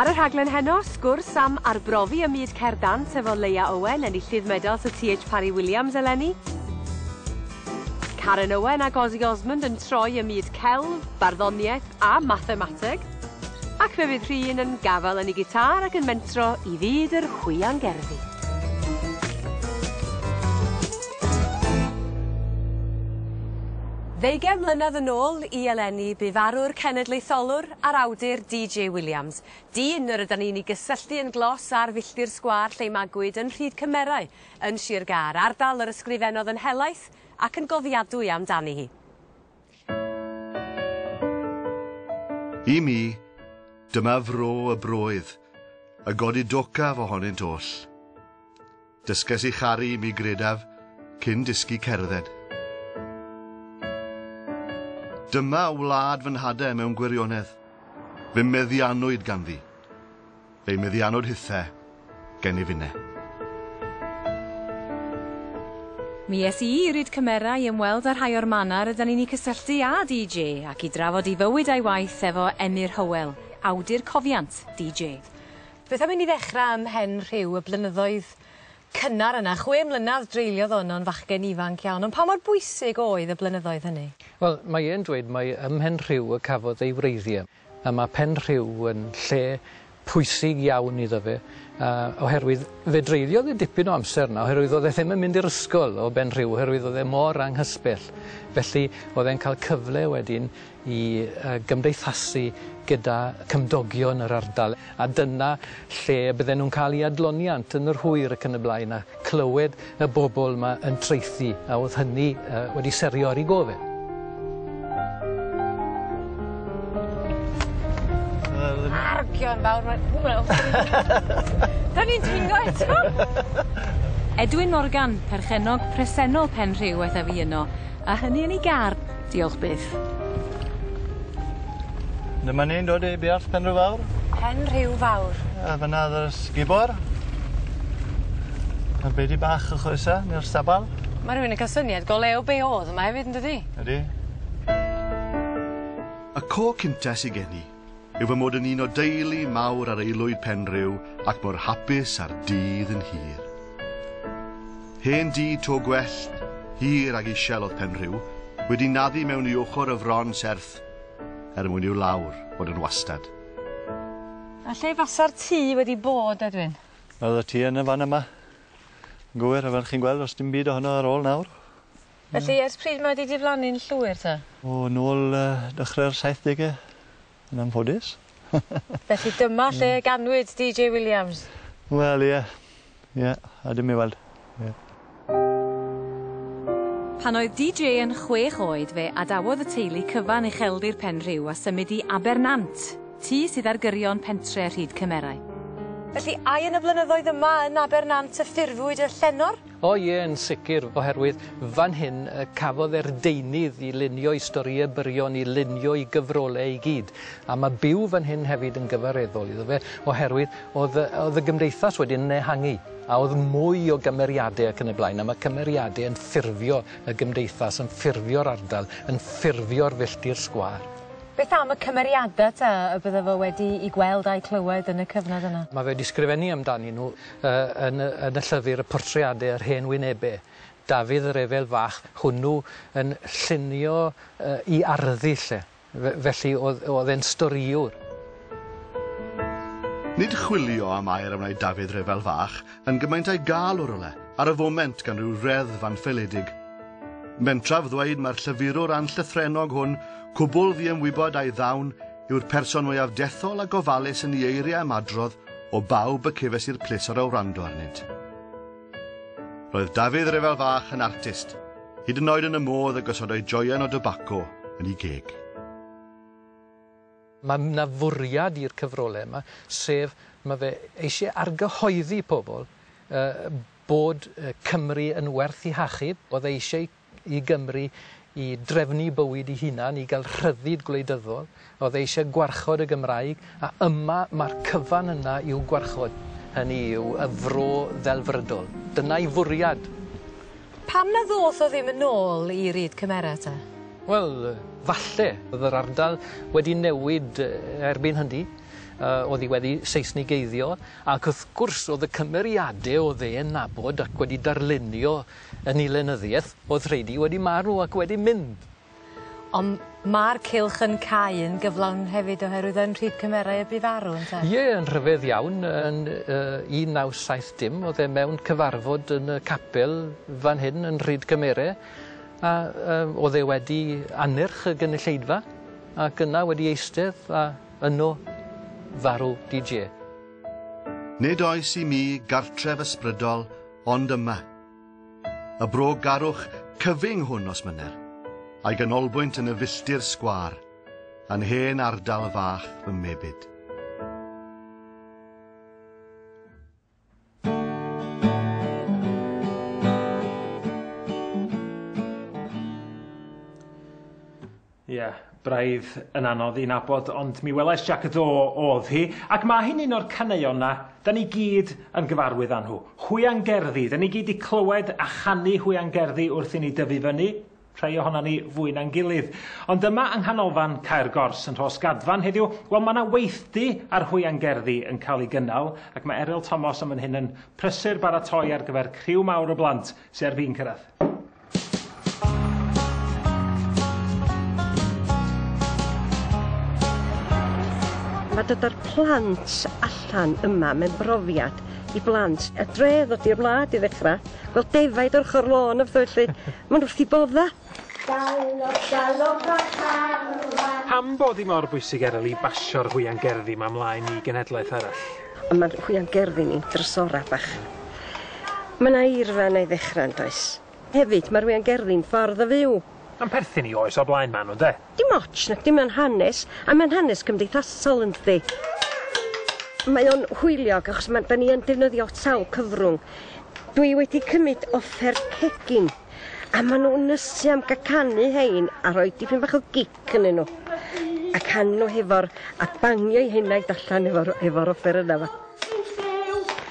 Ar y rhaglen heno, sgwrs am arbrofi ym myd cerdd dant efo Leia Owen, enillydd medal Sir TH Parry Williams eleni. Karen Owen ac Ozzy Osmond yn troi ym myd celf, barddoniaeth a mathemateg. Ac fe fydd Rhun yn gafael yn ei gitâr ac yn mentro i fyd yr hwiangerddi. Ddeugain mlynedd yn ôl i eleni bu farw'r cenedlaetholwr a'r awdur DJ Williams, dyn yr ydan ni'n 'i gysylltu yn glos ar filltir sgwâr lle'i magwyd yn Rhyd Cymerau yn Sir Gâr, ardal yr ysgrifennodd yn helaeth ac yn gofiadwy amdani hi. I mi, dyma fro y broedd, y godidocaf ohonynt oll. Dysges i charu, mi gredaf, cyn dysgu cerdded. Dyma wlad fy nhadau mewn gwirionedd. Fe meddiannwyd ganddi. Fe'i meddiannwyd hithe gennyf inne. Mi es i i Ryd Cymera i ymweld â rhai o'r mannau rydan ni'n eu cysylltu â DJ ac i drafod ei fywyd a'i waith efo Emyr Hywel, awdur cofiant DJ. Beth am i ni ddechrau ym Mhen Rhiw y blynyddoedd cynnar yna? 6 mlynedd dreuliodd o yno'n fachgen ifanc iawn, ond pa mor bwysig oedd y blynyddoedd hynny? Wel, mae e'n dweud mai ym Mhen Rhiw y cafodd ei wreiddiau, a mae Pen Rhiw yn lle pwysig iawn iddo fe, oherwydd fe dreuliodd e dipyn o amser yna, oherwydd oedd e ddim yn mynd i'r ysgol o Ben Rhiw, oherwydd oedd e mor anghysbell. Felly oedd e'n cael cyfle wedyn i gymdeithasu gyda cymdogion yr ardal, a dyna lle y bydden nhw'n cael eu adloniant yn yr hwyr ac yn y blaen, a clywed y bobl 'ma yn traethu, a oedd hynny wedi serio ar ei gof e. Argion fawr ma' wel 'Dan ni'n dringo eto! Edwin Morgan, perchennog presennol Penrhiw aeth â fi yno, a hynny yn ei gar, diolch byth. Dyma ni'n dod i buarth Penrhiw Fawr. Penrhiw Fawr. A fyna o'dd yr sgubor. A'r beudy bach o'ch oesa, neu'r stabal. Ma' rhywun yn ca'l syniad go lew be' o'dd yma hefyd yndydi? Ydi. Y co cynta sy gen i yw fy mod yn un o deulu mawr ar aelwyd Penrhiw ac mor hapus a'r dydd yn hir. Hen dŷ to gwellt, hir ag isial o'dd Penrhiw, wedi naddu mewn i ochr y fron serth er mwyn i'w lawr fod yn wastad. A lle fasa'r tŷ wedi bod, Edwin? O'dd y tŷ yn y fan yma. Yn gywir, a fel chi'n gweld, do's dim byd ohono ar ôl nawr. Felly ers pryd mae 'di diflannu'n llwyr te? O nôl dechre'r saithdege, yn anffodus. Felly dyma lle ganwyd Dee Jay Williams? Wel ie, ie, a dim i weld, ie. Pan oedd Dee Jay yn chwech oed fe adawodd y teulu cyfan ucheldir Penrhiw a symud i Abernant, tŷ sydd ar gyrion pentre Rhyd Cymerau. Felly ai yn y blynyddoedd yma yn Abernant y ffurfwyd y llenor? O ie, yn sicr, oherwydd fan hyn y cafodd e'r deunydd i lunio'i storïau byrion, i lunio'i gyfrolau i gyd. A mae byw fan hyn hefyd yn gyfareddol iddo fe, oherwydd oedd y, oedd y gymdeithas wedyn yn ehangu, a oedd mwy o gymeriadau ac yn y blaen, a mae cymeriadau yn ffurfio y gymdeithas, yn ffurfio'r ardal, yn ffurfio'r filltir sgwâr. Beth am y cymeriadau ta y bydde fo wedi 'u gweld a'u clywed yn y cyfnod yna? Mae fe wedi sgrifennu amdanyn nhw yn y yn y llyfr y portreade yr hen wynebe. Dafydd yr Efel Fach hwnnw yn llunio 'i arddull e. Felly o'dd o'dd e'n storïwr. Nid chwilio am air a wnaed Dafydd Rhyfel Fach yn gymaint a'i gael o rywle, ar y foment gan ryw reddf anffaeledig. Mentraf ddweud mai'r llyfurwr anllythrennog hwn, cwbl ddiymwybod a'i ddawn, yw'r person mwyaf dethol a gofalus yn ei eiriau ymadrodd o bawb y cefais i'r pleser o wrando arnynt. Roedd Dafydd Ryfel Fach yn artist, hyd yn oed yn y modd y gosodai joien o dybaco yn ei geg. Mae 'na fwriad i'r cyfrolau yma, sef mae fe eisiau argyhoeddi pobl bod Cymru yn werth ei hachub. Oedd e eisiau i Gymru i drefnu bywyd ei hunan, i gael rhyddid gwleidyddol. Oedd e eisiau gwarchod y Gymraeg, a yma mae'r cyfan yna i'w gwarchod, hynny yw y fro ddelfrydol. Dyna'i fwriad. Pam na ddoth o ddim yn ôl i Ryd Cymera te? Wel, falle. Oedd yr ardal wedi newid erbyn hynny. Oedd hi wedi Seisnigeiddio, ac wrth gwrs oedd y cymeriadau oedd e'n nabod ac wedi darlunio yn ei lenyddiaeth, oedd rheini wedi marw ac wedi mynd. Ond ma'r cylch yn cau yn gyflawn hefyd oherwydd yn Rhyd Cymerau y bu farw ynte? Ie, yn rhyfedd iawn, yn 1970 oedd e mewn cyfarfod yn y capel fan hyn yn Rhyd Cymerau, a oedd e wedi annerch y gynulleidfa, ac yna wedi eistedd a yno farw DJ. Nid oes i mi gartref ysbrydol ond yma. Y bro garwch cyfyng hwn os mynner, a'i ganolbwynt yn y filltir sgwâr, yn hen ardal fach fy mebyd. Ie, yeah, braidd yn anodd i nabod, ond mi welais Jac y Do oedd hi, ac mae hi'n un o'r caneuon 'na, da ni gyd yn gyfarwydd â nhw. Hwiangerddi, da ni gyd 'di clywed a chanu hwiangerddi wrth i ni dyfu fyny, rhai ohonon ni fwy na'n gilydd. Ond yma yng Nghanolfan Cae'r Gors yn Rhosgadfan heddiw, wel mae yna weithdy ar hwiangerddi yn cael ei gynnal, ac mae Eryl Thomas am fan hyn yn prysur baratoi ar gyfer criw mawr o blant sy ar fin cyrraedd. Mae dod â'r plant allan yma mewn brofiad i blant y dre ddod i'r wlad i ddechrau, gweld defaid o'r ochr lôn a pethau felly. Maen nhw wrth eu bodda. Galop, galop a charfan. Pam bod hi mor bwysig Eryl i basio'r hwiangerddi 'ma mlaen i genhedlaeth arall? Ond mae'r hwiangerddi ni'n drysora bach. Mae 'na eirfa yna i ddechrau yn does? Hefyd, mae'r hwiangerddi'n ffordd o fyw. Ma'n perthyn i oes o'r blaen ma' nhw ynde? Dim ots, nacdi, mae'n hanes, a mae'n hanes cymdeithasol yndydi? Mae o'n hwyliog achos ma' 'dan ni yn defnyddio sawl cyfrwng. Dwi wedi cymryd offer cegin a ma' nhw'n ysu am gael canu hein a rhoi dipyn bach o gic ynddyn nhw. A canu nhw hefo'r, a bangio eu henaid allan efo'r efo'r offer yna 'ma.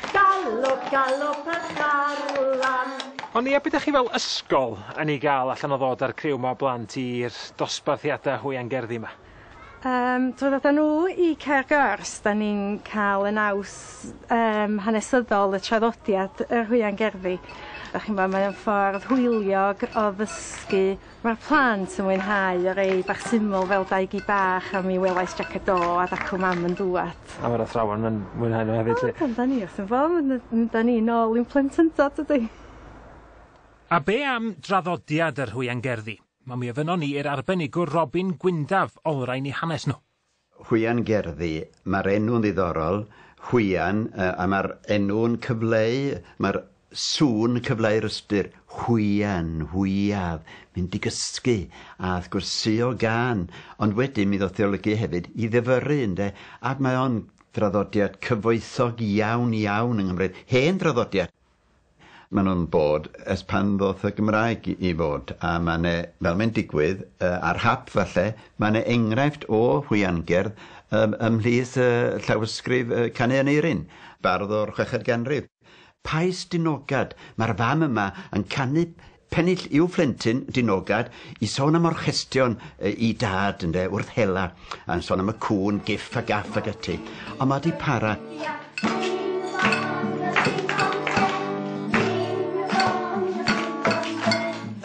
Galop, galop a charlam. Ond ia, be' 'dach chi fel ysgol yn ei gael allan o ddod â'r criw 'ma o blant i'r dosbarthiadau hwiangerddi 'ma? Drwy ddod â nhw i Cae'r Gors, da ni'n cael y naws hanesyddol, y traddodiad yr hwiangerddi. Da chi'n gwbod, mae o'n ffordd hwyliog o ddysgu. Mae'r plant yn mwynhau y rei bach syml fel Dau Gi Bach a Mi Welais Jac y Do a Dacw Mam yn Dŵad. A mae'r athrawon yn mwynhau nhw hefyd 'lly? O, da ni wrth 'yn bodd, da ni nôl i'n plentyndod dydi? A be am draddodiad yr hwiangerddi? Wel, mi ofynnon ni i'r arbenigwr Robin Gwyndaf olrhain eu hanes nhw. Hwiangerddi, mae'r enw'n ddiddorol, hwian, a mae'r enw'n cyfleu, mae'r sŵn cyfleu'r ystyr, hwian, hwiaf, mynd i gysgu, a wrth gwrs suo gân, ond wedyn mi ddoth i olygu hefyd i ddifyrru, ynde, ac mae o'n draddodiad cyfoethog iawn iawn yng Nghymru, hen draddodiad. Maen nhw'n bod ers pan ddoth y Gymraeg i fod, a mae 'ne, fel mae'n digwydd, ar hap falle, mae 'ne enghraifft o hwiangerdd ymhlith llawysgrif Canu Aneirin, bardd o'r chweched ganrif. Pais Dinogad, mae'r fam yma yn canu pennill i'w phlentyn Dinogad i sôn am orchestion i dad, ynde, wrth hela, a'n sôn am y cŵn, giff a gaff ac ati. Ond mae 'di para.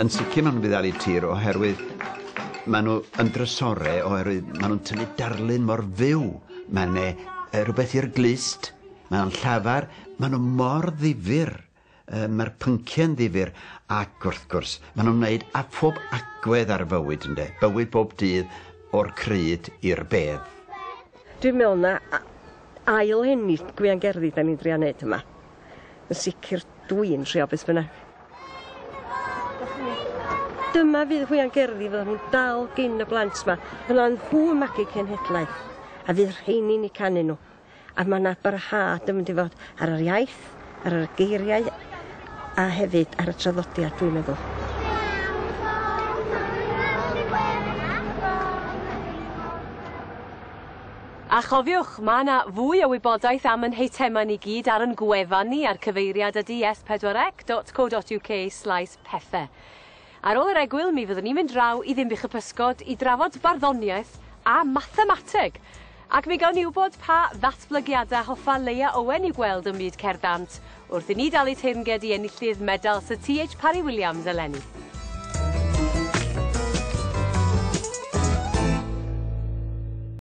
Yn sicr maen nhw'n fuddalu tir oherwydd maen nhw yn drysore oherwydd maen nhw'n tynnu darlun mor fyw. Mae 'ne rhywbeth i'r glust, mae o'n llafar, maen nhw mor ddifyr, mae'r pynciau'n ddifyr ac wrth gwrs maen nhw'n wneud â phob agwedd ar fywyd ynde, bywyd bob dydd o'r crud i'r bedd. Dwi'n meddwl na ail ennill gwiangerddi da ni'n drio neud yma. Yn sicr dwi'n trio beth bynnag. Dyma fydd hwiangerddi fyddan nhw'n dal gin y blant 'ma. Fyddan nhw yn magu cenhedlaeth a fydd rheini'n eu canu nhw. A mae 'na barhad yn mynd i fod ar yr iaith, ar yr geiriau a hefyd ar y traddodiad dwi'n meddwl. A chofiwch, mae yna fwy o wybodaeth am yn heitemau ni gyd ar yn gwefan ni a'r cyfeiriad ydy s4c.co.uk/pethe. Ar ôl yr egwyl, mi fyddwn ni'n mynd draw i Ddinbych y Pysgod i drafod barddoniaeth a mathemateg. Ac mi gawn ni wybod pa ddatblygiadau hoffa Leia Owen i'w gweld ym myd cerdd dant wrth i ni dalu teyrnged i enillydd medal Sir T.H. Parry Williams eleni.